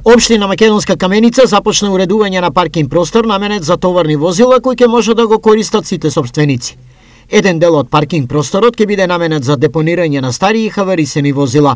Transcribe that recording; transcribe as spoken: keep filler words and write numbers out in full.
Општина Македонска Каменица започна уредување на паркинг простор наменет за товарни возила кои ќе може да го користат сите сопственици. Еден дел од паркинг просторот ќе биде наменет за депонирање на стари и хаварисани возила.